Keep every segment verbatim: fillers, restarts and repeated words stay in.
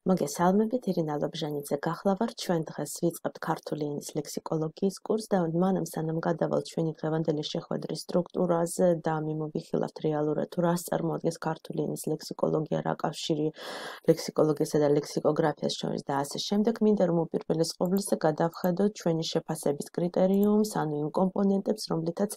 მოგესალმებით, ირინა ლობჟანიძე გახლავართ. ჩვენ დღეს ვიწყებთ ქართული ენის ლექსიკოლოგიის კურსს და მანამ სანამ გადავალთ ჩვენი დღევანდელი შეხვედრის სტრუქტურაზე და მიმოვიხილავთ რეალურად თუ რას წარმოადგენს ქართული ენის ლექსიკოლოგია, რა კავშირი ლექსიკოლოგიასა და ლექსიკოგრაფიას შორის და ასე შემდეგ, მინდა რომ უპირველეს ყოვლისა გადავხედოთ ჩვენი შეფასების კრიტერიუმს, ანუ იმ კომპონენტებს, რომლითაც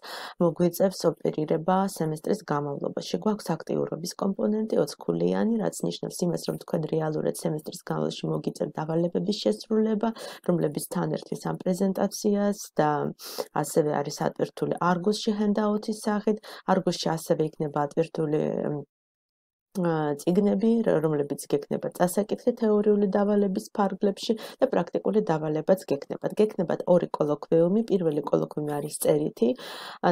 მოგვიწევს ოპერირება სემესტრის განმავლობაში. გვაქვს აქტიურობის კომპონენტი ოცქულიანი, რაც ნიშნავს იმას, რომ თქვენ რეალურად სემესტრის განმავლობაში მოგიწევთ დავალებების შესრულება, რომლებიც თან ერთვის ამ პრეზენტაციას და ასევე არის ატვირთული Argus-ში handout-ის სახით. Argus-ში ასევე იქნება ატვირთული წიგნები, რომლებიც გექნება წასაკითხი თეორიული დავალების ფარგლებში და პრაქტიკული დავალებაც გექნებათ. გექნებათ ორი კოლოკვიუმი, პირველი კოლოკვიუმი არის წერითი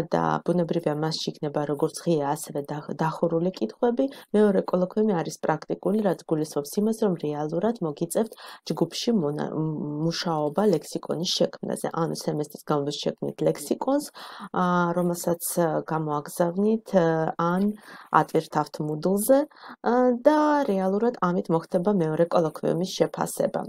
და ბუნებრივია მასში იქნება როგორც ღია, ასევე დახურული კითხვები. მეორე კოლოკვიუმი არის პრაქტიკული, რაც გულისხმობს იმას, რომ რეალურად მოგიწევთ ჯგუფში მუშაობა ლექსიკონის შექმნაზე. ანუ სემესტრის განმავლობაში შექმნით ლექსიკონს, რომელსაც გამოაგზავნით ან ატვირთავთ Moodle-ზე და რეალურად ამით მოხდება მეორე კოლოკვიუმის შეფასება.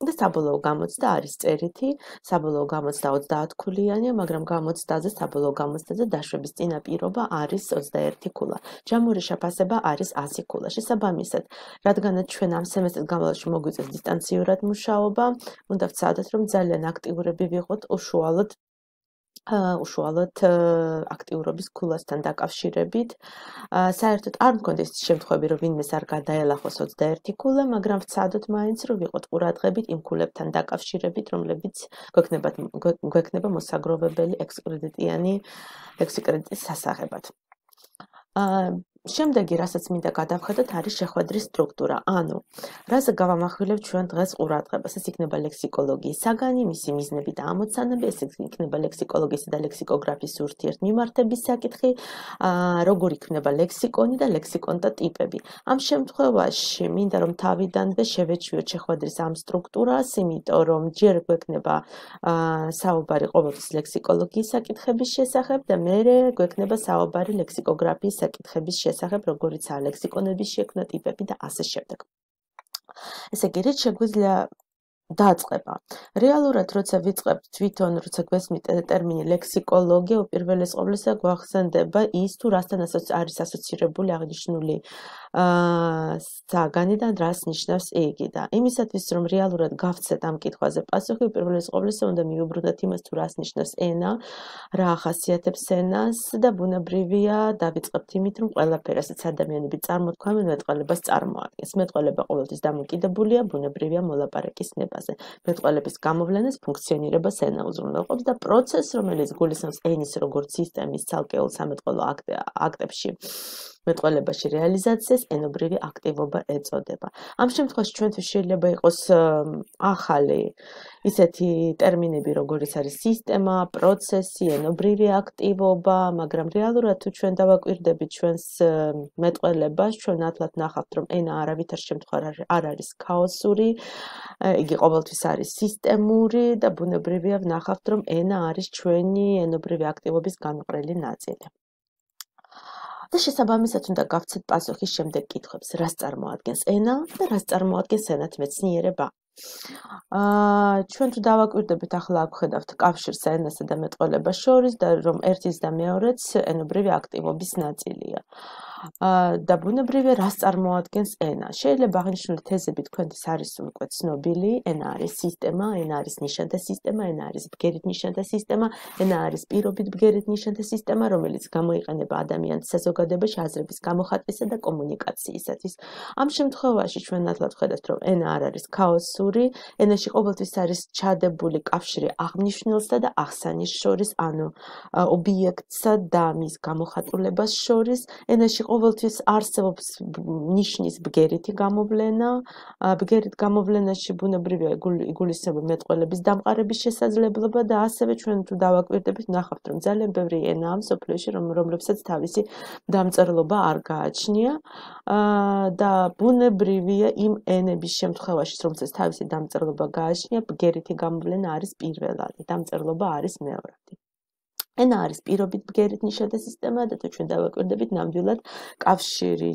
და საბოლოო გამოცდა არის წერითი, საბოლოო გამოცდა ოცდაათქულიანია, მაგრამ გამოცდაზე, საბოლოო გამოცდაზე დაშვების წინაპირობა არის ოცდაერთი ქულა. ჯამური შეფასება არის ასი ქულა. შესაბამისად, რადგანაც ჩვენ ამ სემესტრის განმავლობაში მოგვიწევს დისტანციურად მუშაობა, უნდა ვცადოთ, რომ ძალიან აქტიურები ვიყოთ უშუალოდ უშუალოდ აქტიურობის ქულასთან დაკავშირებით. საერთოდ არ მქონდეს შემთხვევები, რომ ვინმეს არ გადაელახოს ოცდაერთი ქულა, მაგრამ ვცადოთ მაინც, რომ ვიყოთ ყურადღებით იმ ქულებთან დაკავშირებით, რომლებიც გვექნება მოსაგროვებელი ექსკრედიტიანი ექსკრედიტის სასაღებად. შემდეგი, რასაც მინდა გადავხედოთ, არის შეხვედრის სტრუქტურა. ანუ, რაზე გავამახვილებთ ჩვენ დღეს ყურადღებას? ეს იქნება ლექსიკოლოგიის საგანი, მისი მიზნები და ამოცანები, ეს იქნება ლექსიკოლოგიისა და ლექსიკოგრაფიის ურთიერთმიმართების საკითხი, როგორ იქნება ლექსიკონი და ლექსიკონთა ტიპები. ამ შემთხვევაში მინდა რომ თავიდანვე შევეჩვიოთ შეხვედრის ამ სტრუქტურას, იმიტომ რომ ჯერ გვექნება საუბარი ყოველთვის ლექსიკოლოგიის საკითხების შესახებ და მერე გვექნება საუბარი ლექსიკოგრაფიის საკითხების შესახებ. სახებ როგორიცაა ლექსიკონების შექმნა, ტიპები და ასე შემდეგ. ესე იგი, რით შეგვიძლია დაწყება. რეალურად, როცა ვიწყებთ თვითონ, როცა გვესმით ტერმინი ლექსიკოლოგია, უპირველეს ყოვლისა გვახსენდება ის, თუ რასთან არის ასოცირებული აღნიშნული საგანი და რას ნიშნავს იგი. და იმისათვის, რომ რეალურად გავცეთ ამ კითხვაზე პასუხი, უპირველეს ყოვლისა უნდა მივუბრუნდეთ იმას, თუ რას ნიშნავს ენა, რა ახასიათებს ენას და ბუნებრივია დავიწყებთ იმით, რომ ყველაფერი, რასაც ადამიანები წარმოთქვამენ, მეტყველებას წარმოადგენს. მეტყველება ყოველთვის დამოკიდებულია ბუნებრივია მოლაპარაკის ნება. მეტყველების გამოვლენას ფუნქციონირებას ენა უზრუნველყოფს და პროცესს, რომელიც გულისხმობს ენის როგორც სისტემის ცალკეულ სამეტყველო აქტებში მეტყველებაში რეალიზაციას, ენობრივი აქტივობა ეწოდება. ამ შემთხვევაში ჩვენთვის შეიძლება იყოს ახალი ისეთი ტერმინები, როგორიც არის სისტემა, პროცესი, ენობრივი აქტივობა, მაგრამ რეალურად თუ ჩვენ დავაკვირდებით ჩვენს მეტყველებას, ჩვენ ათლად ნახავთ, რომ ენა არავითარ შემთხვევაში არ არის ქაოსური, იგი ყოველთვის არის სისტემური და ბუნებრივია ვნახავთ, რომ ენა არის ჩვენი ენობრივი აქტივობის განუყრელი ნაწილი. და შესაბამისად უნდა გავცეთ პასუხი შემდეგ კითხვებს, რას წარმოადგენს ენა და რას წარმოადგენს ენათმეცნიერება. ჩვენ თუ დავაკვირდებით, ახლა აქ ხედავთ კავშირს ენასა და მეტყველებას შორის და რომ ერთის და მეორეც ენობრივი აქტივობის ნაწილია. და ბუნებრივია რას წარმოადგენს ენა. შეიძლება აღნიშნული თეზები თქვენთვის არის უკვე ცნობილი, ენა არის სისტემა, ენა არის ნიშანთა სისტემა, ენა არის ბგერით ნიშანთა სისტემა, ენა არის პირობით ბგერით ნიშანთა სისტემა, რომელიც გამოიყენება ადამიანის საზოგადოებაში აზრების გამოხატვისა და კომუნიკაციისათვის. ამ შემთხვევაში ჩვენ ნათლად ვხედავთ, რომ ენა არ არის ქაოსური, ენაში ყოველთვის არის ჩადებული კავშირი აღნიშნულსა და აღსანის შორის, ანუ ობიექტსა და მის გამოხატულებას შორის. ენაში ყოველთვის არსებობს ნიშნის ბგერითი გამოვლენა, ბგერით გამოვლენაში ბუნებრივია იგულისხმება მეტყველების დამყარების შესაძლებლობა და ასევე ჩვენ თუ დავაკვირდებით, ნახავთ, რომ ძალიან ბევრი ენაა მსოფლიოში, რომლებსაც თავისი დამწერლობა არ გააჩნია და ბუნებრივია იმ ენების შემთხვევაში, რომელსაც თავისი დამწერლობა გააჩნია, ბგერითი გამოვლენა არის პირველადი, დამწერლობა არის მეორადი. ენა არის პირობით ბგერით ნიშათა სისტემა და თუ ჩვენ დავაკვირდებით ნამდვილად კავშირი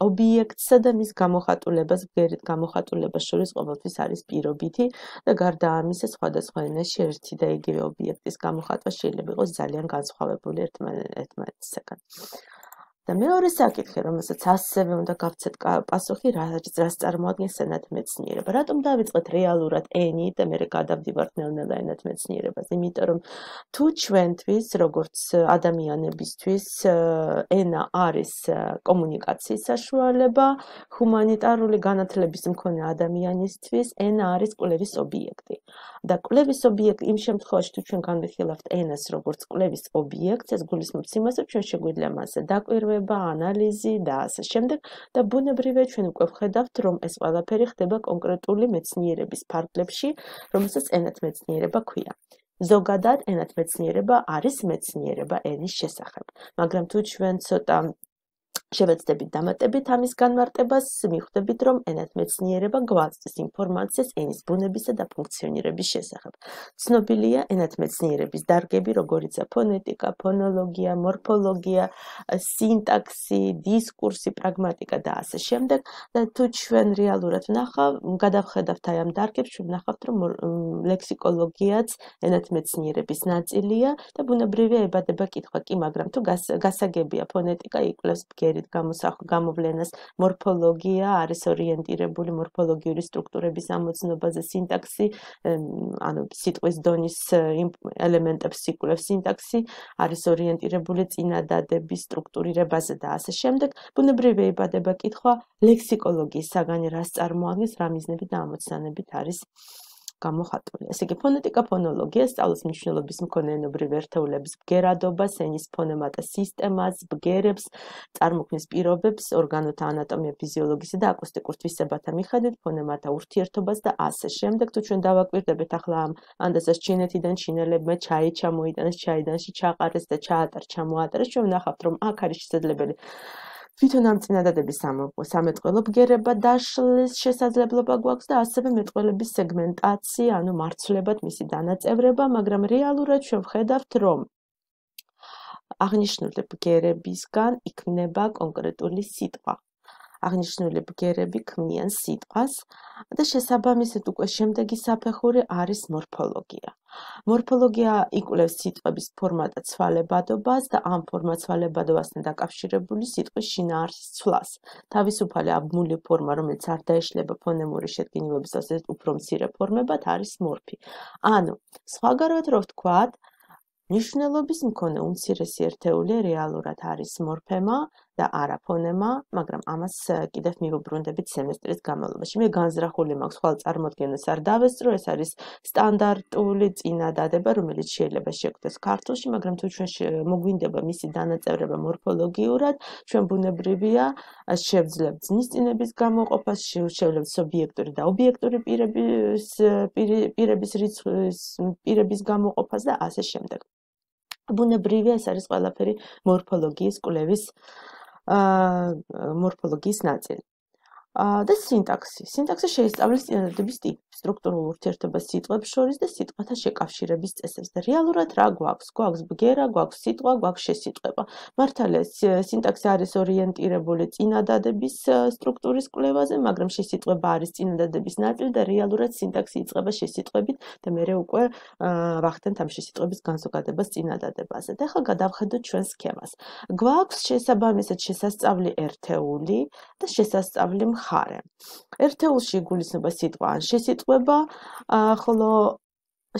ობიექტსა და მის გამოხატულებას ბგერით გამოხატულებას შორის ყოველთვის არის პირობითი და გარდა ამისა სხვადასხვა ენაში ერთი და იგივე ობიექტის გამოხატვა შეიძლება იყოს ძალიან განსხვავებული ერთმანეთისაგან. და მეორე საკითხი, რომელსაც ასევე უნდა გავცეთ პასუხი, რაც წარმოადგენს ენათმეცნიერება. რატომ დავიწყეთ რეალურად ენით და მერე გადავდივართ ნელ-ნელა ენათმეცნიერებას? იმიტომ რომ თუ ჩვენთვის, როგორც ადამიანებისთვის, ენა არის კომუნიკაციის საშუალება, ჰუმანიტარული განათლების მქონე ადამიანისთვის ენა არის კვლევის ობიექტი. და კვლევის ობიექტი იმ შემთხვევაში, თუ ჩვენ განვიხილავთ ენას როგორც კვლევის ობიექტს, ეს გულისხმობს იმას, რომ ჩვენ შეგვიძლია მასზე დაკვირვება, ანალიზი და ასე შემდეგ და ბუნებრივია ჩვენ უკვე ვხედავთ, რომ ეს ყველაფერი ხდება კონკრეტული მეცნიერების ფარგლებში, რომელსაც ენათმეცნიერება ქვია. ზოგადად ენათმეცნიერება არის მეცნიერება ენის შესახებ, მაგრამ თუ ჩვენ ცოტა შევეცდებით დამატებით ამის განმარტებას, მიხვდებით, რომ ენათმეცნიერება გვაწვდის ინფორმაციას ენის ბუნებისა და ფუნქციონირების შესახებ. ცნობილია ენათმეცნიერების დარგები, როგორიცაა ფონეტიკა, ფონოლოგია, მორფოლოგია, სინტაქსი, დისკურსი, პრაგმატიკა და ასე შემდეგ. და თუ ჩვენ რეალურად ვნახავ, გადავხედავთ აი ამ დარგებს, ჩვენ ვნახავთ, რომ ლექსიკოლოგიაც ენათმეცნიერების ნაწილია და ბუნებრივია ებადება კითხვა კი, მაგრამ თუ გასაგებია ფონეტიკა იკვლევს ბგერით გამოვლენას, მორფოლოგია არის ორიენტირებული მორფოლოგიური სტრუქტურების ამოცნობაზე, სინტაქსი, ანუ სიტყვის დონის ელემენტებს იკვლევს, სინტაქსი არის ორიენტირებული წინადადების სტრუქტურირებაზე და ასე შემდეგ. ბუნებრივია ებადება კითხვა ლექსიკოლოგიის საგანი რას წარმოადგენს, რა მიზნებით და ამოცანებით არის გამოხატული. ესე იგი, ფონეტიკა ფონოლოგია სწავლის მნიშვნელობის მქონე ენობრივ ერთეულების ბგერადობას, ენის ფონემატა სისტემას, ბგერებს, წარმოქმნის პირობებს, ორგანოთა ანატომია, ფიზიოლოგისა და აკუსტიკურ თვისებათა მიხედვით, ფონემათა ურთიერთობას და ასე შემდეგ. თუ ჩვენ დავაკვირდებით ახლა ამ ანდაზას ჩინეთიდან ჩინელებმა ჩაი ჩამოიტანეს, ჩაიდანში ჩაყარეს და ჩაატარ ჩამოატარეს, ჩვენ ვნახავთ, რომ აქ არის შესაძლებელი თვითონ ამ წინადადების სამეტყველო ბგერება დაშლის შესაძლებლობა გვაქვს და ასევე მეტყველების სეგმენტაცია, ანუ მარცვლებად მისი დანაწევრება, მაგრამ რეალურად ჩვენ ვხედავთ, რომ აღნიშნული ბგერებისგან იქმნება კონკრეტული სიტყვა. აღნიშნული ბგერები ქმნიან სიტყვას და შესაბამისად უკვე შემდეგი საფეხური არის მორფოლოგია. მორფოლოგია იკვლევს სიტყვების ფორმათა ცვალებადობას და ამ ფორმაცვალებადობასთან დაკავშირებული სიტყვის შინაარსის ცვლას. თავისუფალი აბმული ფორმა, რომელიც არ დაეშლება ფონემური შედგენილობის ასეთ უფრო მცირე ფორმებად, არის მორფი. ანუ, სხვაგანად რო ვთქვათ, მნიშვნელობის მქონე უმცირესი ერთეული რეალურად არის მორფემა და არა ფონემა, მაგრამ ამას კიდევ მივუბრუნდებით სემესტრის განმავლობაში. მე განზრახული მაქვს ხვალ წარმოდგენას არ დავესწრო, ეს არის სტანდარტული წინადადება, რომელიც შეიძლება შეგვდეს ქართულში, მაგრამ თუ ჩვენ მოგვინდება მისი დანაწევრება მორფოლოგიურად, ჩვენ ბუნებრივია შევძლებთ ზნისწინების გამოყოფას, შევძლებთ სუბიექტური და ობიექტური პირების პირების რიცხვის პირების გამოყოფას და ასე შემდეგ. ბუნებრივია ეს არის ყველაფერი მორფოლოგიის კვლევის მორფოლოგიის ნაწილი. და სინტაქსი. სინტაქსი შეისწავლის წინადადების ტიპს, სტრუქტურულ ურთიერთობას სიტყვებს შორის და სიტყვათა შეკავშირების წესებს. და რეალურად რა გვაქვს? გვაქვს ბგერა, გვაქვს სიტყვა, გვაქვს შესიტყვება. მართალია, სინტაქსი არის ორიენტირებული წინადადების სტრუქტურის კვლევაზე, მაგრამ შესიტყვება არის წინადადების ნაწილი და რეალურად სინტაქსი იწყება შესიტყვებით და მერე უკვე ვახდენთ ამ შესიტყვების განზოგადებას წინადადებაზე. და ახლა გადავხედოთ ჩვენ სქემას. გვაქვს შესაბამისად შესასწავლი ერთეული და შესასწავლი მხარე. ერთეულში იგულისხმება სიტყვა ან შესიტყვება, ხოლო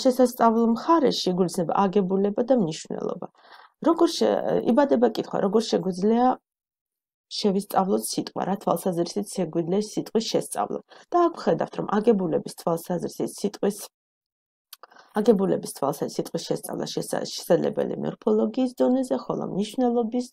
შესასწავლ მხარეში იგულისხმება აგებულება და მნიშვნელობა. როგორ იბადება კითხვა, როგორ შეგვიძლია შევისწავლოთ სიტყვა, რა თვალსაზრისით შეგვიძლია სიტყვის შესწავლა. და აქ ვხედავთ, რომ აგებულების თვალსაზრისით სიტყვის აგებულების თვალსაზრისით სიტყვის შესწავლა შესაძლებელი მორფოლოგიის დონეზე, ხოლო მნიშვნელობის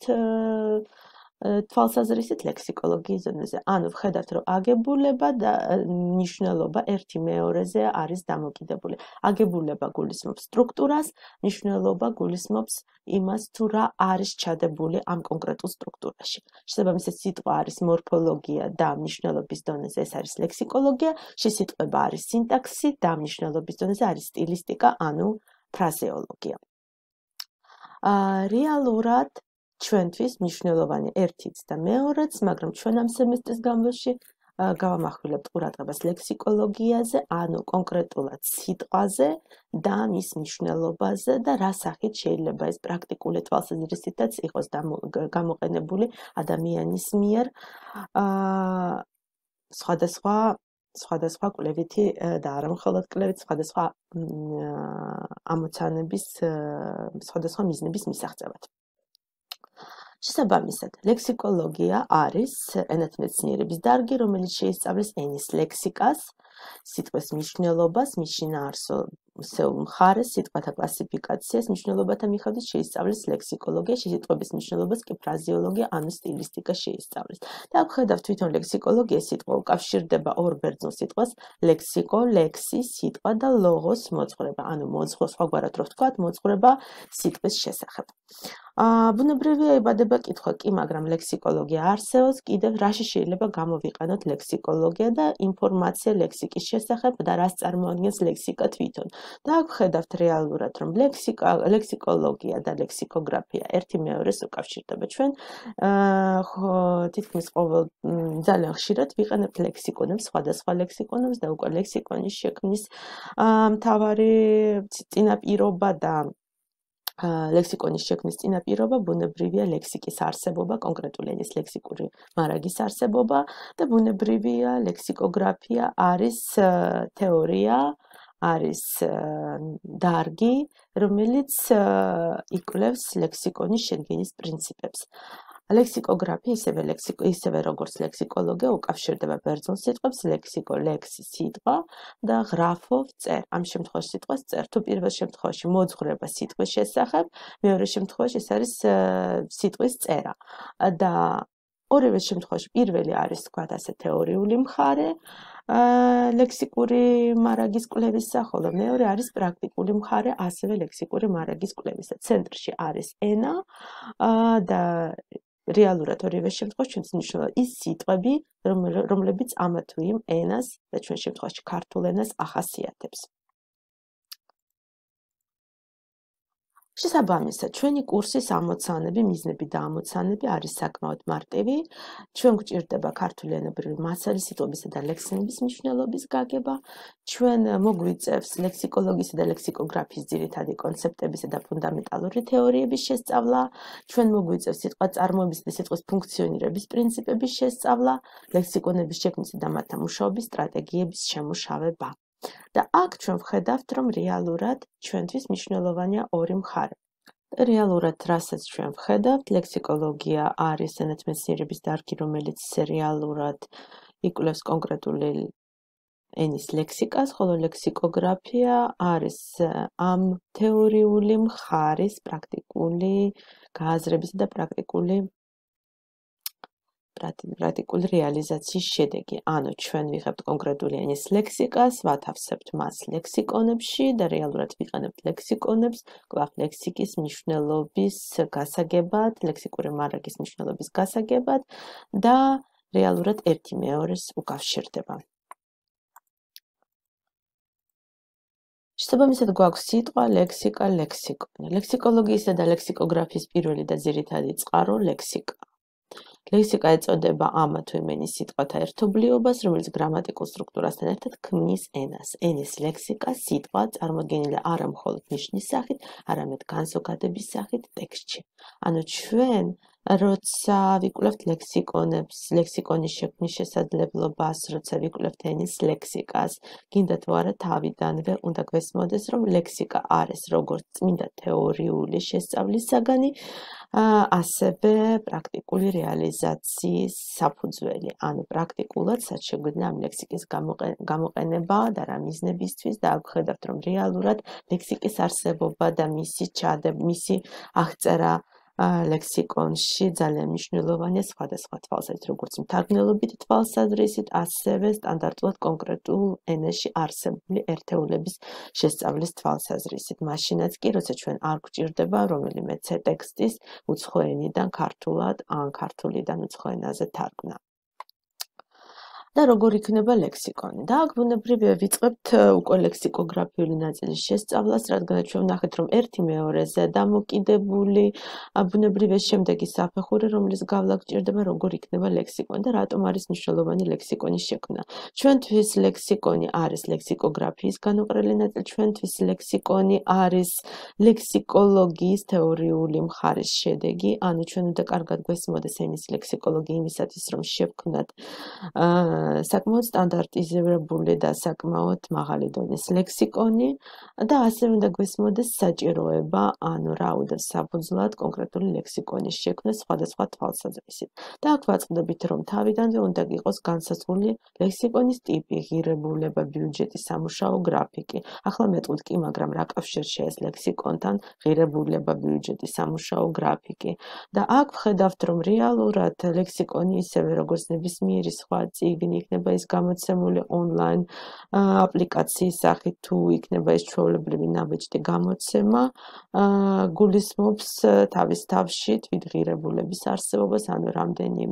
თვალსაზრისით ლექსიკოლოგიის ზონაზე. ანუ ვხედავთ, რომ აგებულება და მნიშვნელობა ერთი მეორეზე არის დამოკიდებული. აგებულება გულისხმობს სტრუქტურას, მნიშვნელობა გულისხმობს იმას, თუ რა არის ჩადებული ამ კონკრეტულ სტრუქტურაში. შესაბამისად, სიტყვა არის მორფოლოგია და მნიშვნელობის დონეზე ეს არის ლექსიკოლოგია, შესიტყვება არის სინტაქსი და მნიშვნელობის დონეზე არის სტილისტიკა, ანუ ფრაზეოლოგია. რეალურად ჩვენთვის მნიშვნელოვანი ერთიც და მეორეც, მაგრამ ჩვენ ამ სემესტრის განმავლობაში გავამახვილებთ ყურადღებას ლექსიკოლოგიაზე, ანუ კონკრეტულად სიტყვაზე და მის მნიშვნელობაზე და რა სახით შეიძლება ეს პრაქტიკული თვალსაზრისითაც იყოს გამოყენებული ადამიანის მიერ სხვადასხვა სხვადასხვა კვლევითი და არა მხოლოდ კვლევით, სხვადასხვა ამოცანების, სხვადასხვა მიზნების მისაღწევად. შესაბამისად, ლექსიკოლოგია არის ენათმეცნიერების დარგი, რომელიც შეისწავლის ენის ლექსიკას, სიტყვის მნიშვნელობას, მის შინაარსობრივ მხარეს, სიტყვათა კლასიფიკაციას, მნიშვნელობათა მიხედვით შეისწავლის ლექსიკოლოგია, სიტყვების მნიშვნელობას კი ფრაზეოლოგია, ანუ სტილისტიკა შეისწავლის. და აქ ხედავთ თვითონ ლექსიკოლოგია სიტყვა უკავშირდება ორ ბერძნულ სიტყვას, ლექსიკო, ლექსი, სიტყვა და ლოგოს მოძღვრება, ანუ მოძღვრება, სხვაგვარად რო ვთქვათ, მოძღვრება სიტყვის შესახებ. ბუნებრივია იბადება კითხვა კი, მაგრამ ლექსიკოლოგია არსებობს, კიდევ რაში შეიძლება გამოვიყენოთ ლექსიკოლოგია და ინფორმაცია ლექსიკის შესახებ და რას წარმოადგენს ლექსიკა თვითონ. და აქ ხედავთ რეალურად, რომ ლექსიკა, ლექსიკოლოგია და ლექსიკოგრაფია ერთი მეორეს უკავშირდება. ჩვენ თითქმის ყოველ ძალიან ხშირად ვიყენებთ ლექსიკონებს, სხვადასხვა ლექსიკონებს და უკვე ლექსიკონის შექმნის მთავარი წინაპირობა და ლექსიკონის შექმნის წინაპირობა ბუნებრივია ლექსიკის არსებობა, კონკრეტული ენის ლექსიკური მარაგის არსებობა და ბუნებრივია ლექსიკოგრაფია არის თეორია, არის დარგი, რომელიც იკვლევს ლექსიკონის შედგენის პრინციპებს. ლექსიკოგრაფია ისევე ლექსიკო ისევე როგორც ლექსიკოლოგია უკავშირდება ბერძნულ სიტყვებს, ლექსიკო, ლექსი, სიტყვა და გრაფო წერ. ამ შემთხვევაში სიტყვას წერ. თუ პირველ შემთხვევაში მოძღვრება სიტყვის შესახებ, მეორე შემთხვევაში ეს არის სიტყვის წერა. და ორივე შემთხვევაში პირველი არის თქვათ ასე თეორიული მხარე, ლექსიკური მარაგის კვლევისა, ხოლო მეორე არის პრაქტიკული მხარე, ასევე ლექსიკური მარაგის კვლევისა. ცენტრში არის ენა და რეალურად ორივე შემთხვევაში ჩვენს მნიშვნელოვანი ის სიტყვები, რომლებიც ამა თუ იმ ენას და ჩვენ შემთხვევაში ქართულ ენას ახასიათებს. შესაბამისად, ჩვენი კურსის ამოცანები, მიზნები და ამოცანები არის საკმაოდ მარტივი. ჩვენ გვჭირდება ქართული ენებრივი მასალის, სიტყვებისა და ლექსემების მნიშვნელობის გაგება. ჩვენ მოგვიწევს ლექსიკოლოგიისა და ლექსიკოგრაფიის ძირითადი კონცეპტებისა და ფუნდამენტალური თეორიების შესწავლა. ჩვენ მოგვიწევს სიტყვაწარმოებისა და სიტყვის ფუნქციონირების პრინციპების შესწავლა, ლექსიკონების შექმნისა და მათთან მუშაობის სტრატეგიების შემუშავება. და აქ ჩვენ ვხედავთ, რომ რეალურად ჩვენთვის მნიშვნელოვანია ორი მხარე. რეალურად რასაც ჩვენ ვხედავთ, ლექსიკოლოგია არის ენათმეცნიერების დარგი, რომელიც რეალურად იკვლევს კონკრეტული ენის ლექსიკას, ხოლო ლექსიკოგრაფია არის ამ თეორიული მხარის პრაქტიკული გააზრებისა და პრაქტიკული პრაქტიკული რეალიზაციის შედეგი. ანუ ჩვენ ვიღებთ კონკრეტული ენის ლექსიკას, ვათავსებთ მას ლექსიკონებში და რეალურად ვიყენებთ ლექსიკონებს, კვლავ ლექსიკის მნიშვნელობის გასაგებად, ლექსიკური მარაგის მნიშვნელობის გასაგებად და რეალურად ერთი მეორეს უკავშირდება. შესაბამისად გვაქვს სიტყვა, ლექსიკა, ლექსიკონი. ლექსიკოლოგიისა და ლექსიკოგრაფიის პირველი და ძირითადი წყარო ლექსიკა. ლექსიკა ეწოდება ამა თუ იმ ენის სიტყვათა ერთობლიობას, რომელიც გრამატიკულ სტრუქტურასთან ერთად ქმნის ენას. ენის ლექსიკა, სიტყვა წარმოდგენილია არა მხოლოდ ნიშნის სახით, არამედ განზოგადების სახით ტექსტში. ანუ ჩვენ როცა ვიკვლევთ ლექსიკონებს, ლექსიკონის შექმნის შესაძლებლობას, როცა ვიკვლევთ ენის ლექსიკას, გინდა თუ არა თავიდანვე უნდა გვესმოდეს, რომ ლექსიკა არის როგორც წმინდა თეორიული შესწავლის საგანი, ასევე პრაქტიკული რეალიზაციის საფუძველი. ანუ პრაქტიკულად რაც შეგვიძლია ამ ლექსიკის გამოყენება და რა მიზნებისთვის და აქ ხედავთ, რომ რეალურად ლექსიკის არსებობა და მისი ჩადება, მისი აღწერა ლექსიკონში ძალიან მნიშვნელოვანია სხვადასხვა თვალსაზრისით, როგორც მთარგმნელობით თვალსაზრისით, ასევე სტანდარტულად კონკრეტულ ენაში არსებული ერთეულების შესწავლის თვალსაზრისით. მაშინაც კი, როცა ჩვენ არ გვჭირდება რომელიმე ტექსტის უცხო ენიდან ქართულად ან ქართულიდან უცხო ენაზე თარგმნა. და როგორ იქნება ლექსიკონი. და აქ ბუნებრივია ვიწყებთ უკვე ლექსიკოგრაფიული ნაწილის შესწავლას, რადგან ჩვენ ვნახეთ, რომ ერთი მეორეზე დამოკიდებული, ბუნებრივია შემდეგი საფეხური, რომლის გავლა გჭირდება, როგორ იქნება ლექსიკონი და რატომ არის მნიშვნელოვანი ლექსიკონის შექმნა. ჩვენთვის ლექსიკონი არის ლექსიკოგრაფიის განუყრელი ნაწილი, ჩვენთვის ლექსიკონი არის ლექსიკოლოგიის თეორიული მხარის შედეგი, ანუ ჩვენ უნდა კარგად გვესმოდეს ენის ლექსიკოლოგია იმისათვის, რომ შევქმნათ საკმაოდ სტანდარტიზირებული და საკმაოდ მაღალი დონის ლექსიკონი და ასევე უნდა გვესმოდეს საჭიროება, ანუ რა უნდა საფუძვლად კონკრეტული ლექსიკონის შექმნა სხვადასხვა თვალსაზრისით. და აქ ვაწყდებით, რომ თავიდანვე უნდა იყოს განსაზღვრული ლექსიკონის ტიპი, ღირებულება, ბიუჯეტი, სამუშაო გრაფიკი. ახლა მეტყვით კი, მაგრამ რა კავშირშია ეს ლექსიკონთან ღირებულება, ბიუჯეტი, სამუშაო გრაფიკი. და აქ ვხედავთ, რომ რეალურად ლექსიკონი ისევე როგორც ნებისმიერი სხვა წიგნი იქნება ის გამოცემული ონლაინ აპლიკაციის სახით თუ იქნება ეს ჩვეულებრივი ნაბეჭდი გამოცემა, გულისხმობს თავის თავში თვითღირებულების არსებობას, ანუ რამდენი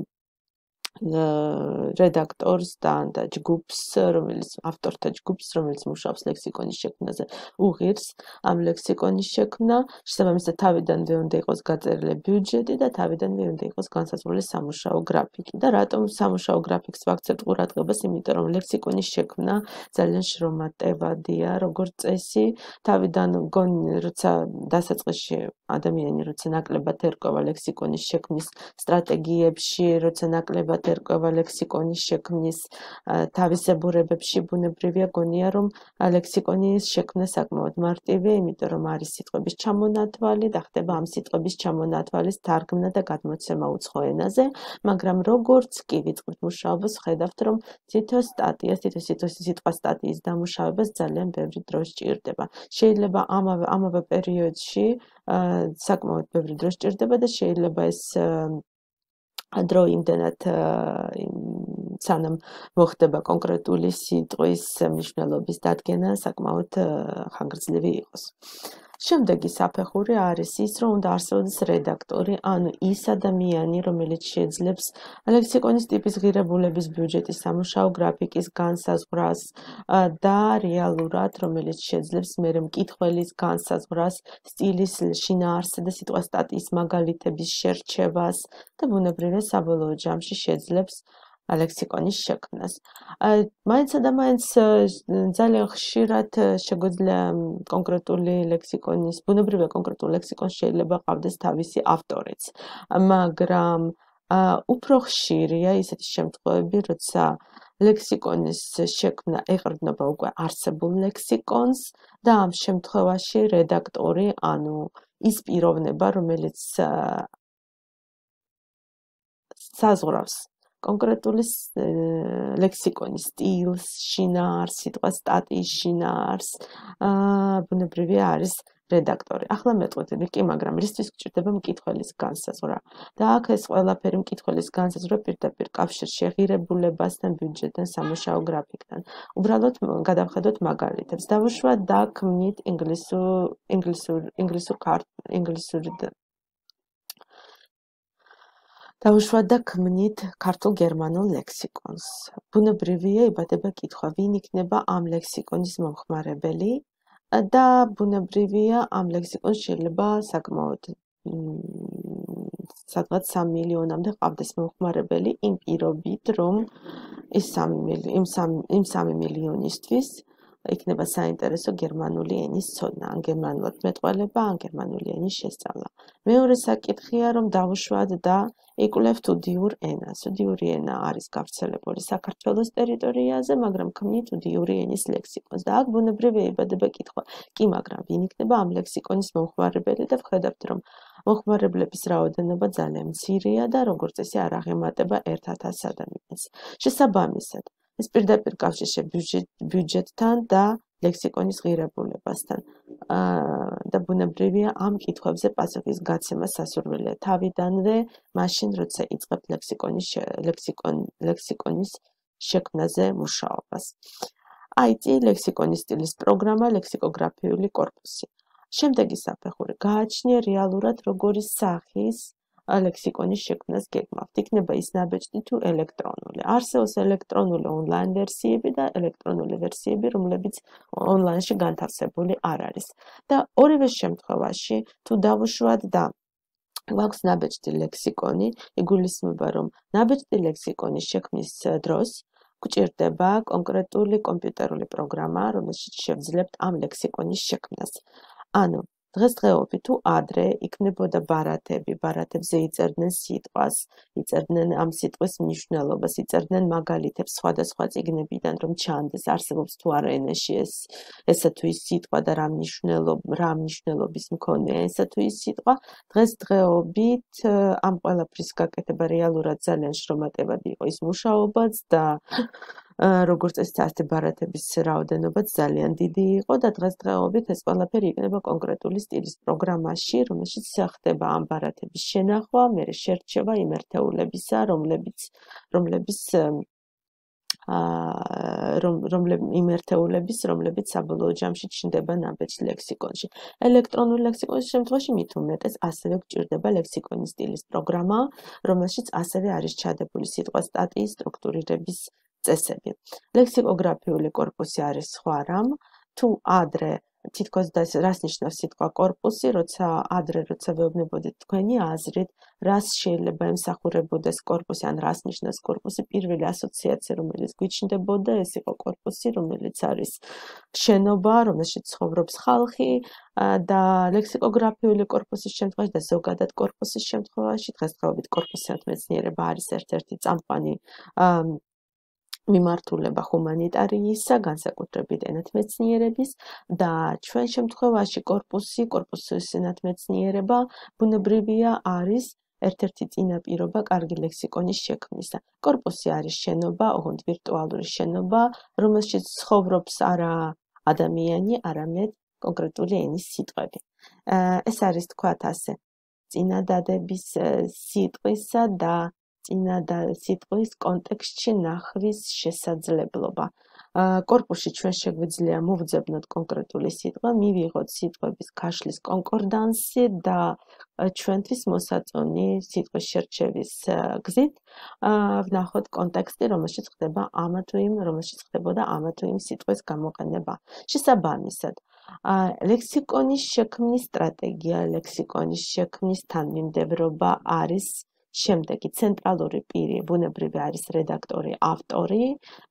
რედაქტორს და და ჯგუფს, რომელიც ავტორთა ჯგუფს, რომელიც მუშაობს ლექსიკონის შექმნაზე, უღირს ამ ლექსიკონის შექმნა, შესაბამისად თავიდანვე უნდა იყოს გაწერილი ბიუჯეტი და თავიდანვე უნდა იყოს განსაზღვრული სამუშაო გრაფიკი. და რატომ სამუშაო გრაფიკს ვაქცევთ ყურადღებას? იმიტომ რომ ლექსიკონის შექმნა ძალიან შრომატევადია, როგორც წესი, თავიდან გონი, როცა დასაწყისში ადამიანი როცა ნაკლებად ერკვევა ლექსიკონის შექმნის სტრატეგიებში, როცა ნაკლებად ერკვევა ლექსიკონის შექმნის თავისებურებებში, ბუნებრივია გონია, რომ ლექსიკონის შექმნა საკმაოდ მარტივია, იმიტომ რომ არის სიტყვების ჩამონათვალი და ხდება ამ სიტყვების ჩამონათვალის თარგმნა და გადმოცემა უცხო ენაზე, მაგრამ როგორც კი ვიწყებთ მუშაობას, ხედავთ, რომ თითო სტატიას, თითო სიტყვა სტატიის დამუშავებას ძალიან ბევრი დრო სჭირდება. შეიძლება ამავე ამავე პერიოდში საკმაოდ ბევრი დრო სჭირდება და შეიძლება ეს დრო იმდენად სანამ მოხდება კონკრეტული სიტყვის მნიშვნელობის დადგენა, საკმაოდ ხანგრძლივი იყოს. შემდეგი საფეხური არის ის, რომ უნდა არსებობდეს რედაქტორი, ანუ ის ადამიანი, რომელიც შეძლებს ლექსიკონის ტიპის ღირებულების ბიუჯეტის სამუშაო გრაფიკის განსაზღვრას და რეალურად, რომელიც შეძლებს მერე მკითხველის განსაზღვრას, სტილის შინაარსზე და სიტყვა სტატიის მაგალითების შერჩევას და ბუნებრივია საბოლოო ჯამში შეძლებს ლექსიკონის შექმნას. მაინცსა და მაინც ძალიან ხშირად შეგვიძლია კონკრეტული ლექსიკონის, ბუნებრივია კონკრეტულ ლექსიკონს შეიძლება ყავდეს თავისი ავტორიც, მაგრამ უფრო ხშირია ისეთი შემთხვევები, როცა ლექსიკონის შექმნა ეყრდნობა უკვე არსებულ ლექსიკონს და ამ შემთხვევაში რედაქტორი, ანუ ის პიროვნება, რომელიც საზღვრავს კონკრეტული ლექსიკონის სტილს, შინაარს, სიტყვა სტატიის შინაარს, ბუნებრივია არის რედაქტორი. ახლა მეტყვით კი, მაგრამ რისთვის გჭირდება მკითხველის განსაზღვრა? და აქ ეს ყველაფერი მკითხველის განსაზღვრა პირდაპირ კავშირში ღირებულებასთან, ბიუჯეტთან, სამუშაო გრაფიკთან. უბრალოდ გადავხედოთ მაგალითებს. დავუშვათ და ქმნით ინგლისურ ინგლისურ ინგლისურ ინგლისური დავუშვათ და ქმნით ქართულ-გერმანულ ლექსიკონს. ბუნებრივია იბადება კითხვა, ვინ იქნება ამ ლექსიკონის მომხმარებელი და ბუნებრივია ამ ლექსიკონს შეიძლება საკმაოდ სადღაც სამი მილიონამდე ყავდეს მომხმარებელი იმ პირობით, რომ ის სამი მილიონისთვის იქნება საინტერესო გერმანული ენის ცოდნა, ან გერმანულად მეტყველება, ან გერმანული ენის შესწავლა. მეორე საკითხია, რომ დავუშვათ და იკვლევთ უდიურ ენას. უდიური ენა არის გავრცელებული საქართველოს ტერიტორიაზე, მაგრამ ქმნით უდიური ენის ლექსიკონს. და აქ ბუნებრივია იბადება კითხვა, კი, მაგრამ ვინ იქნება ამ ლექსიკონის მომხმარებელი და ვხედავთ, რომ მომხმარებლების რაოდენობა ძალიან მცირეა და როგორც წესი არ აღემატება ერთ ათას ადამიანს. შესაბამისად, ეს პირდაპირ კავშირში ბიუჯეტთან და ლექსიკონის ღირებულებასთან. და ბუნებრივია ამ კითხვებზე პასუხის გაცემა სასურველია თავიდანვე, მაშინ როცა იწყებთ ლექსიკონის ლექსიკონ ლექსიკონის შექმნაზე მუშაობას. აი წი ლექსიკონის სტილის პროგრამა, ლექსიკოგრაფიული კორპუსი. შემდეგი საფეხური გააჩნია რეალურად როგორი სახის ლექსიკონის შექმნას გეგმავთ. იქნება ის ნაბეჭდი თუ ელექტრონული. არსებობს ელექტრონული ონლაინ ვერსიები და ელექტრონული ვერსიები, რომლებიც ონლაინში განთავსებული არ არის. და ორივე შემთხვევაში თუ დავუშვათ და გვაქვს ნაბეჭდი ლექსიკონი, იგულისხმება, რომ ნაბეჭდი ლექსიკონის შექმნის დროს გვჭირდება კონკრეტული კომპიუტერული პროგრამა, რომელშიც შევძლებთ ამ ლექსიკონის შექმნას. ანუ დღესდღეობით თუ ადრე იქნებოდა ბარათები, ბარათებზე იწერდნენ სიტყვას, იწერდნენ ამ სიტყვის მნიშვნელობას, იწერდნენ მაგალითებს სხვადასხვა წიგნებიდან, რომ ჩანდეს, არსებობს თუ არა ენაში ეს ესა თუ ის სიტყვა და რა მნიშვნელობ რა მნიშვნელობის მქონეა ესა თუ ის სიტყვა. დღესდღეობით ამ ყველაფრის გაკეთება რეალურად ძალიან შრომატებად იყო ის მუშაობაც და როგორც წესი ბარათების რაოდენობაც ძალიან დიდი იყო და დღესდღეობით ეს ყველაფერი იქნება კონკრეტული სტილის პროგრამაში, რომელშიც ხდება ამ ბარათების შენახვა, მერე შერჩევა იმ ერთეულებისა, რომლებიც რომლებიც იმ ერთეულების, რომლებიც საბოლოო ჯამში ჩნდება ნაბეჭდ ლექსიკონში. ელექტრონული ლექსიკონის შემთხვევაში მით უმეტეს ასევე გვჭირდება ლექსიკონის სტილის პროგრამა, რომელშიც ასევე არის ჩადებული სიტყვა სტატიის სტრუქტურირების წესები. ლექსიკოგრაფიული კორპუსი არის სხვა რამ, თუ ადრე თითქოს და რას ნიშნავს სიტყვა კორპუსი, როცა ადრე როცა ვეუბნებოდით თქვენი აზრით, რას შეიძლება ემსახურებოდეს კორპუსი, ან რას ნიშნავს კორპუსი, პირველი ასოციაცია, რომელიც გვიჩნდებოდა, ეს იყო კორპუსი, რომელიც არის შენობა, რომელშიც ცხოვრობს ხალხი და ლექსიკოგრაფიული კორპუსის შემთხვევაში და ზოგადად კორპუსის შემთხვევაში, დღესდღეობით კორპუსიანთ მეცნიერება არის ერთ-ერთი წამყვანი მიმართულება ჰუმანიტარიისა, განსაკუთრებით ენათმეცნიერების და ჩვენ შემთხვევაში კორპუსი, კორპუსიანთ მეცნიერება ბუნებრივია არის ერთ-ერთი წინაპირობა კარგი ლექსიკონის შექმნისა. კორპუსი არის შენობა, ოღონდ ვირტუალური შენობა, რომელშიც ცხოვრობს არა ადამიანი, არამედ კონკრეტული ენის სიტყვები. ეს არის თქვათ ასე, წინადადების სიტყვისა და წინადა სიტყვის კონტექსტში ნახვის შესაძლებლობა. კორპუსში ჩვენ შეგვიძლია მოვძებნოთ კონკრეტული სიტყვა, მივიღოთ სიტყვების ქაშლის კონკორდანსი და ჩვენთვის მოსაწონი სიტყვის შერჩევის გზით ვნახოთ კონტექსტი, რომელშიც ხდება ამა თუ იმ, რომელშიც ხდებოდა ამა თუ იმ სიტყვის გამოყენება. შესაბამისად, ლექსიკონის შექმნის სტრატეგია, ლექსიკონის შექმნის თანმიმდევრობა არის შემდეგი. ცენტრალური პირი ბუნებრივი არის რედაქტორი, ავტორი,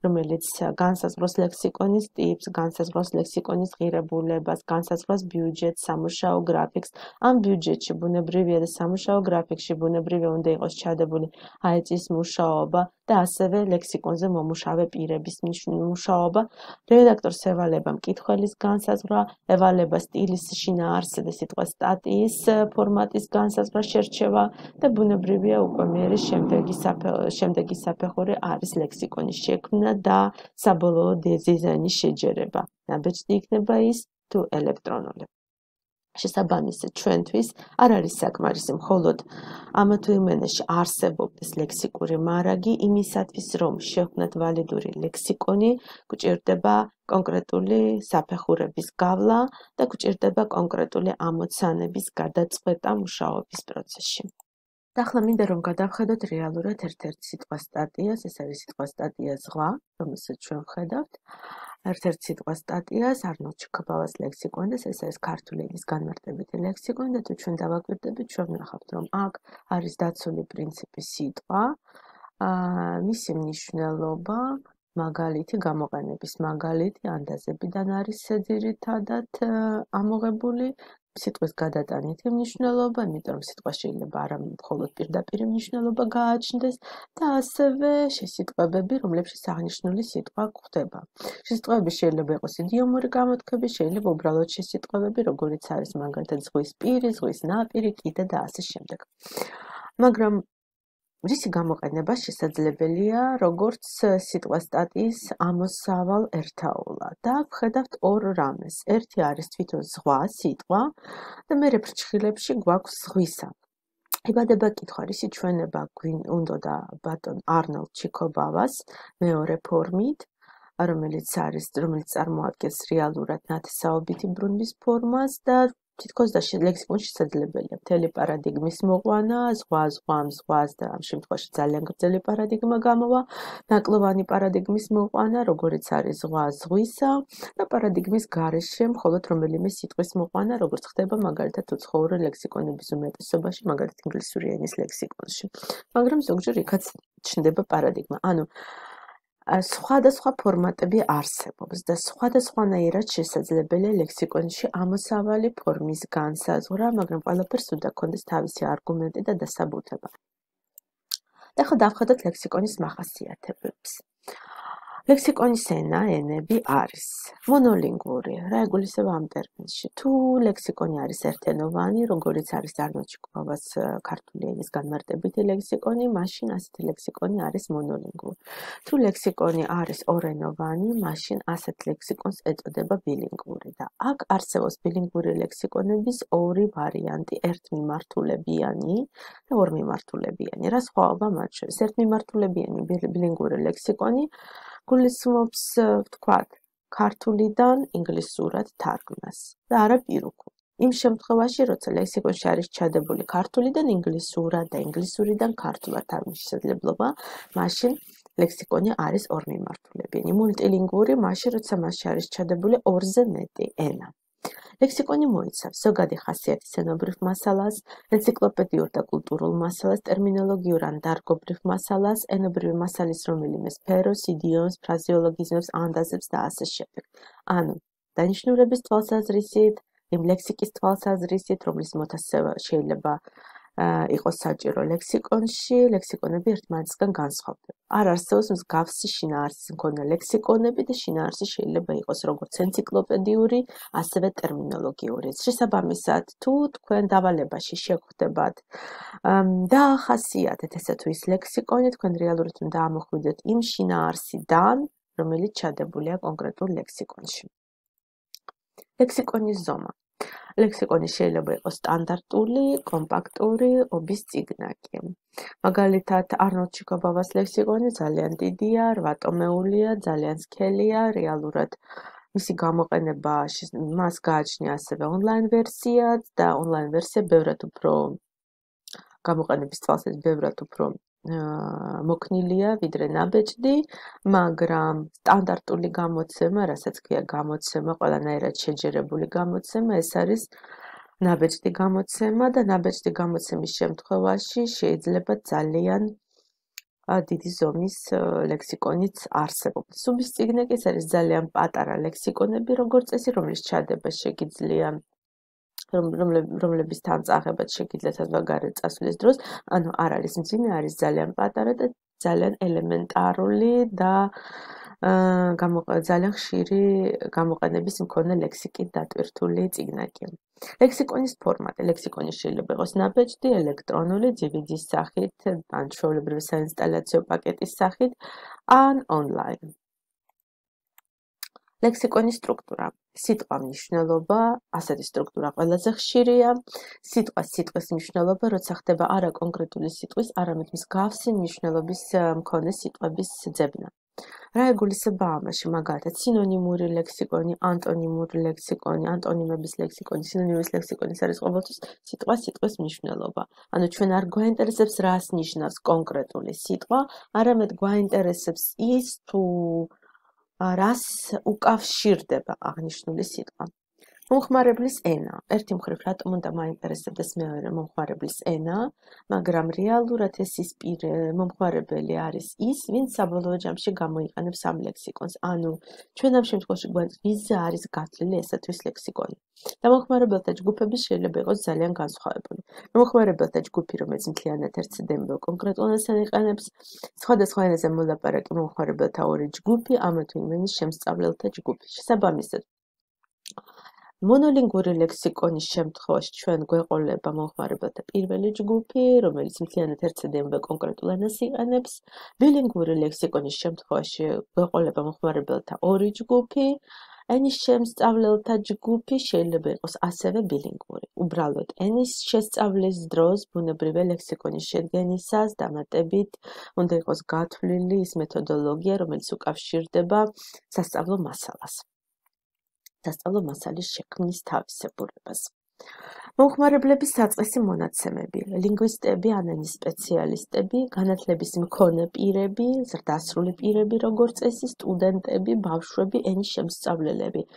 რომელიც განსაზღვროს ლექსიკონის ტიპს, განსაზღვროს ლექსიკონის ღირებულებას, განსაზღვროს ბიუჯეტს, სამუშაო გრაფიკს. ამ ბიუჯეტში ბუნებრივია და სამუშაო გრაფიკში ბუნებრივია უნდა იყოს ჩადებული აეწის მუშაობა და ასევე ლექსიკონზე მომუშავე პირების მუშაობა. რედაქტორს ევალება მკითხველის განსაზღვრა, ევალება სტილის შინაარსი და სიტყვის სტატიის ფორმატის განსაზღვრა, შერჩევა და ბუნებრივია უკვე მერე შემდეგი შემდეგი საფეხური არის ლექსიკონის შექმნა და საბოლოო დიზაინის შეჯერება. ნაბეჭდი იქნება ის თუ ელექტრონული. შესაბამისად, ჩვენთვის არ არის საკმარისი მხოლოდ ამა თუ იმ ენაში არსებობდეს ლექსიკური მარაგი, იმისათვის რომ შევქმნათ ვალიდური ლექსიკონი, გვჭირდება კონკრეტული საფეხურების გავლა და გვჭირდება კონკრეტული ამოცანების გადაწყვეტა მუშაობის პროცესში. და ახლა მინდა რომ გადავხედოთ რეალურად ერთ-ერთ სიტყვა სტატიას, ეს არის სიტყვა სტატია ზღვა, რომელსაც ჩვენ ვხედავთ. ერთ-ერთ სიტყვა სტატიას არნოლდ ჩიქობავას ლექსიკონი, ეს არის ქართული ენის განმარტებითი ლექსიკონი და თუ ჩვენ დავაკვირდებით, ჩვენ ვნახავთ, რომ აქ არის დაცული პრინციპი სიტყვა, მისი მნიშვნელობა, მაგალითი, გამოყენების მაგალითი, ანდაზებიდან არის ძირითადად ამოღებული. სიტყვის გადატანითი მნიშვნელობა, იმიტომ რომ სიტყვა შეიძლება არა მხოლოდ პირდაპირ მნიშვნელობა გააჩნდეს და ასევე შესიტყვებები, რომლებშიც აღნიშნული სიტყვა გვხვდება. შესიტყვებები შეიძლება იყოს იდიომური გამოთქმები, შეიძლება უბრალოდ შესიტყვებები, როგორიც არის მაგალითად ზღვის პირი, ზღვის ნაპირი, კიდე და ასე შემდეგ. მაგრამ რისი გამოყენება შესაძლებელია, როგორც სიტყვა სტატიის ამოსავალ ერთაულად. და ვხედავთ ორ რამეს. ერთი არის თვითონ ზღვა, სიტყვა და მერე ფრჩხილებში გვაქვს ზღვისა. იბადება კითხვა, რისი ჩვენება უნდოდა ბატონ არნოლდ ჩიქობავას მეორე ფორმით, რომელიც არის, რომელიც წარმოადგენს რეალურად ნათესაობითი ბრუნვის ფორმას და თითქოს და ლექსიკონში შესაძლებელია მთელი პარადიგმის მოყვანა, ზღვა, ზღვა, ზღვას და ამ შემთხვევაში ძალიან გრძელი პარადიგმა გამოვა, ნაკლოვანი პარადიგმის მოყვანა, როგორიც არის ზღვა ზღვისა და პარადიგმის გარეშე მხოლოდ რომელიმე სიტყვის მოყვანა, როგორც ხდება მაგალითად უცხოური ლექსიკონების უმეტესობაში, მაგალითად ინგლისური ენის ლექსიკონში. მაგრამ ზოგჯერ იქაც ჩნდება პარადიგმა. ანუ სხვადასხვა ფორმატები არსებობს და სხვადასხვანაირად შესაძლებელია ლექსიკონში ამოსავალი ფორმის განსაზღვრა, მაგრამ ყველაფერს უნდა ჰქონდეს თავისი არგუმენტი და დასაბუთება. და ახლა დავხედოთ ლექსიკონის მახასიათებლებს. ლექსიკონის ენა, ენები არის მონოლინგური, რა ეგულისება ამ ტერმინში. თუ ლექსიკონი არის ერთენოვანი, როგორც არის არნოლდ ჩიქოვას ქართული ენის განმარტებითი ლექსიკონი, მაშინ ასეთი ლექსიკონი არის მონოლინგური. თუ ლექსიკონი არის ორენოვანი, მაშინ ასეთ ლექსიკონს ეწოდება ბილინგური და აქ არსებობს ბილინგური ლექსიკონების ორი ვარიანტი, ერთმიმართულებიანი და ორმიმართულებიანი. რა სხვაობა მათ შორის? ერთმიმართულებიანი ბილინგური ლექსიკონი გულისხმობს, ვთქვათ, ქართულიდან ინგლისურად თარგმნას და არა პირუქულ. იმ შემთხვევაში, როცა ლექსიკონში არის ჩადებული ქართულიდან ინგლისურად და ინგლისურიდან ქართულად თარგმნის შესაძლებლობა, მაშინ ლექსიკონი არის ორმიმართულებიანი. მულტილინგური, მაშინ როცა მასში არის ჩადებული ორზე მეტი ენა. ლექსიკონი მოიცავს ზოგადი ხასიათის ენობრივ მასალას, ენციკლოპედიურ და კულტურულ მასალას, ტერმინოლოგიურ ან დარგობრივ მასალას, ენობრივი მასალის რომელიმე სფეროს, იდიომს, ფრაზეოლოგიზმებს, ანდაზებს და ასე შემდეგ. ანუ დანიშნულების თვალსაზრისით, იმ ლექსიკის თვალსაზრისით, რომლის მოთასება შეიძლება იყოს საჭირო ლექსიკონში, ლექსიკონები ერთმანეთისგან განსხვავდება. არ არსებობს მსგავსი შინაარსის მქონე ლექსიკონები და შინაარსი შეიძლება იყოს როგორც ენციკლოპედიური, ასევე ტერმინოლოგიური. შესაბამისად, თუ თქვენ დავალებაში შეგხვდებათ დაახასიათეთ ესე თუ ის ლექსიკონი, თქვენ რეალურად უნდა ამოხვიდეთ იმ შინაარსიდან, რომელიც ჩადებულია კონკრეტულ ლექსიკონში. ლექსიკონის ზომა. ლექსიკონი შეიძლება იყოს სტანდარტული, კომპაქტური, ობის წიგნაკი. მაგალითად, არნოლდ ჩიქოვას ლექსიკონი ძალიან დიდია, რვა ტომეულია, ძალიან სქელია, რეალურად მისი გამოყენება მას გააჩნია ასევე ონლაინ ვერსიაც და ონლაინ ვერსია ბევრად უფრო გამოყენების თვალსაზრისით ბევრად უფრო მოქნილია, ვიდრე ნაბეჭდი, მაგრამ სტანდარტული გამოცემა, რასაც ქვია გამოცემა, ყველანაირად შეჯერებული გამოცემა, ეს არის ნაბეჭდი გამოცემა და ნაბეჭდი გამოცემის შემთხვევაში შეიძლება ძალიან დიდი ზომის ლექსიკონიც არსებობს. უბის წიგნაკი ეს არის ძალიან პატარა ლექსიკონები, როგორც წესი, რომლის ჩადება შეგიძლია რომლების თანწახებაც შეგიძლიათ საზღვარგარეთ წასვლის დროს, ანუ არ არის მძიმე, არის ძალიან პატარა და ძალიან ელემენტარული და ძალიან ხშირი გამოყენების მქონე ლექსიკით დატვირთული წიგნაკი. ლექსიკონის ფორმატი. ლექსიკონი შეიძლება იყოს ნაბეჭდი, ელექტრონული, დი ვი დის სახით, ან ჩვეულებრივი საინსტალაციო პაკეტის სახით, ან ონლაინ. ლექსიკონის სტრუქტურა. სიტყვა მნიშვნელობა, ასეთი სტრუქტურა ყველაზე ხშირია. სიტყვა სიტყვის მნიშვნელობა, როცა ხდება არა კონკრეტული სიტყვის, არამედ მსგავსი მნიშვნელობის მქონე სიტყვების ძებნა. რა ეგულისება ამაში? მაგალითად, სინონიმური ლექსიკონი, ანტონიმური ლექსიკონი, ანტონიმების ლექსიკონი, სინონიმის ლექსიკონის არის ყოველთვის სიტყვა სიტყვის მნიშვნელობა. ანუ ჩვენ არ გვაინტერესებს რას ნიშნავს კონკრეტული სიტყვა, არამედ გვაინტერესებს ის თუ რას უკავშირდება აღნიშნული სიტყვა. მომხმარებლის ენა. ერთი მხრივ რატომ უნდა მაინტერესებდეს მეორე მომხმარებლის ენა, მაგრამ რეალურად ეს ის მომხმარებელი არის ის, ვინც საბოლოო ჯამში გამოიყენებს ამ ლექსიკონს. ანუ ჩვენ ამ შემთხვევაში გვაინტერესებს ვიზა არის გათვლილი ესათვის ლექსიკონი. და მომხმარებელთა ჯგუფები შეიძლება იყოს ძალიან განსხვავებული. მომხმარებელთა ჯგუფი, რომელიც მთლიანად ერთ ცდემილ კონკრეტულ ენას იყენებს, სხვადასხვა ენაზე მოლაპარაკე მომხმარებელთა ორი ჯგუფი, ამა თუ იმ ენის შემსწავლელთა ჯგუფი. შესაბამისად, მონოლინგური ლექსიკონის შემთხვევაში ჩვენ გვეყოლება მომხმარებელთა პირველი ჯგუფი, რომელიც მთლიანად ერთ ცდემილ კონკრეტულ ენას იყენებს. ბილინგური ლექსიკონის შემთხვევაში გვეყოლება მომხმარებელთა ორი ჯგუფი. ენის შემსწავლელთა ჯგუფი შეიძლება იყოს ასევე ბილინგური. უბრალოდ ენის შესწავლის დროს ბუნებრივია ლექსიკონის შედგენისას დამატებით უნდა იყოს გათვლილი ის მეთოდოლოგია, რომელიც უკავშირდება სასწავლო მასალას. სასწავლო მასალის შექმნის თავისებურებას. მომხმარებლების საწყისი მონაცემები, ლინგვისტები, ან ენის სპეციალისტები, განათლების მქონე პირები, ზრდასრული პირები, როგორც წესი, სტუდენტები, ბავშვები, ენის შემსწავლელები.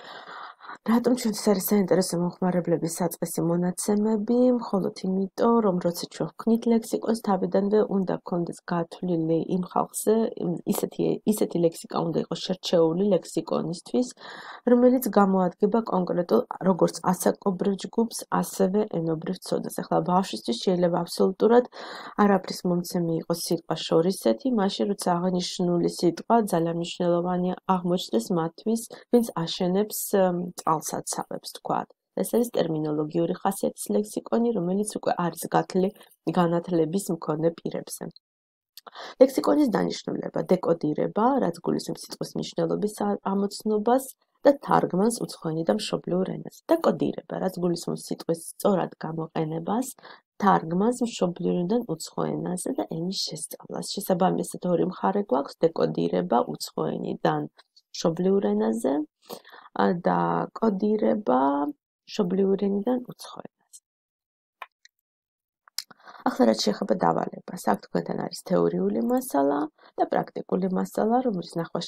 რატომ ჩვენთვის არის საინტერესო მომხმარებლების საწყისი მონაცემები? მხოლოდ იმიტომ, რომ როცა ჩვენ ვქნით ლექსიკონს, თავიდანვე უნდა გქონდეს გათვლილი იმ ხალხზე, ისეთი ისეთი ლექსიკა უნდა იყოს შერჩეული ლექსიკონისთვის, რომელიც გამოადგება კონკრეტულ როგორც ასაკობრივ ჯგუფს, ასევე ენობრივ ცოდნას. ახლა ბავშვისთვის შეიძლება აბსოლუტურად არაფრის მომცემი იყოს სიტყვა შორისეთი, მაშინ როცა აღნიშნული სიტყვა ძალიან მნიშვნელოვანია აღმოჩნდეს მათთვის, ვინც აშენებს წყალსაცავებს, თქვათ. ეს არის ტერმინოლოგიური ხასიათის ლექსიკონი, რომელიც უკვე არის გათვლილი განათლების მქონე პირებზე. ლექსიკონის დანიშნულება, დეკოდირება, რაც გულისხმობს სიტყვის მნიშვნელობის ამოცნობას და თარგმანს უცხოენიდან და მშობლიურ ენაზე. დეკოდირება, რაც გულისხმობს სიტყვის სწორად გამოყენებას, თარგმანს მშობლიურიდან უცხო ენაზე და ენის შესწავლას. შესაბამისად ორი მხარე გვაქვს: დეკოდირება უცხოენიდან მშობლიურ ენაზე და კოდირება მშობლიურ ენიდან უცხო ენაზე. ახლა რაც შეეხება დავალებას, აქ თქვენთან არის თეორიული მასალა და პრაქტიკული მასალა, რომლის ნახვა